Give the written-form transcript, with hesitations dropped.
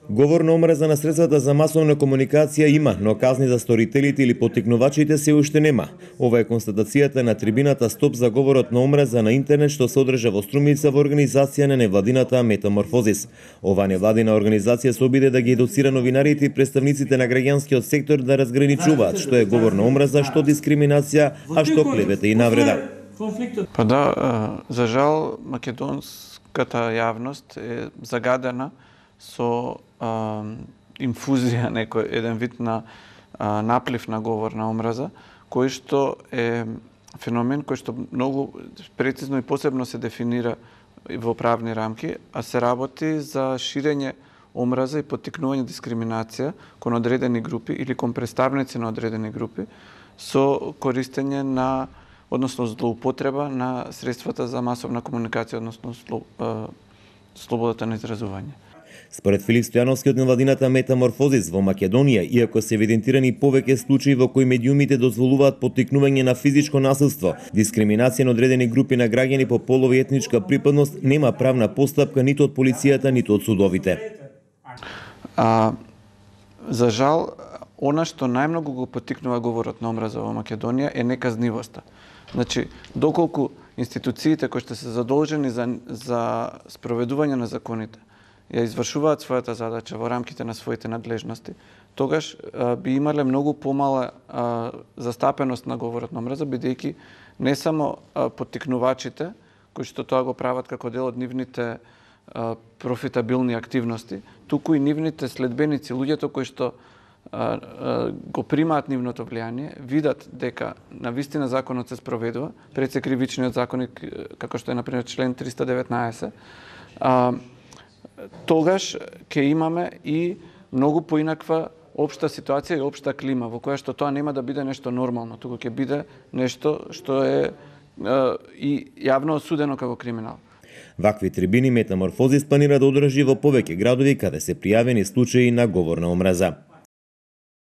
Говор на омраза на средствата за масовна комуникација има, но казни за сторителите или поттикнувачите се уште нема. Ова е констатацијата на трибината Стоп за говорот на омраза на интернет што се одржа во Струмица во организација на невладината Метаморфозис. Ова невладина организација се обиде да ги едуцира новинарите и представниците на граѓанскиот сектор да разграничуваат што е говор на омраза, што дискриминација, а што клевета и навреда. Па да, за жал македонската јавност е загадена со инфузија, еден вид на наплив на говор на омраза, кој што е феномен кој што многу прецизно и посебно се дефинира во правни рамки, а се работи за ширење омраза и поттикнување дискриминација кон одредени групи или кон представници на одредени групи со користење на, односно злоупотреба на средствата за масовна комуникација, односно слободата на изразување. Според Филип Стојановски од невладината Метаморфозис во Македонија, иако се евидентирани повеќе случаи во кои медиумите дозволуваат поттикнување на физичко насилство, дискриминација на одредени групи на граѓани по полова и етничка припадност, нема правна постапка ниту од полицијата, ниту од судовите. За жал, она што најмногу го поттикнува говорот на омраза во Македонија е неказнивоста. Значи, доколку институциите кои што се задолжени за спроведување на законите ја извршуваат својата задача во рамките на своите надлежности, тогаш би имале многу помала застапеност на говорот на омраза, бидејќи не само поттикнувачите, кои што тоа го прават како дел од нивните профитабилни активности, туку и нивните следбеници, луѓето кои што го примаат нивното влијание, видат дека навистина законот се спроведува, пред се кривичниот законник, како што е например член 319, тогаш ќе имаме и многу поинаква општа ситуација и општа клима, во која што тоа нема да биде нешто нормално, туку ќе биде нешто што е и јавно осудено како криминал. Вакви трибини Метаморфозис планира да одржи во повеќе градови каде се пријавени случаи на говор на омраза.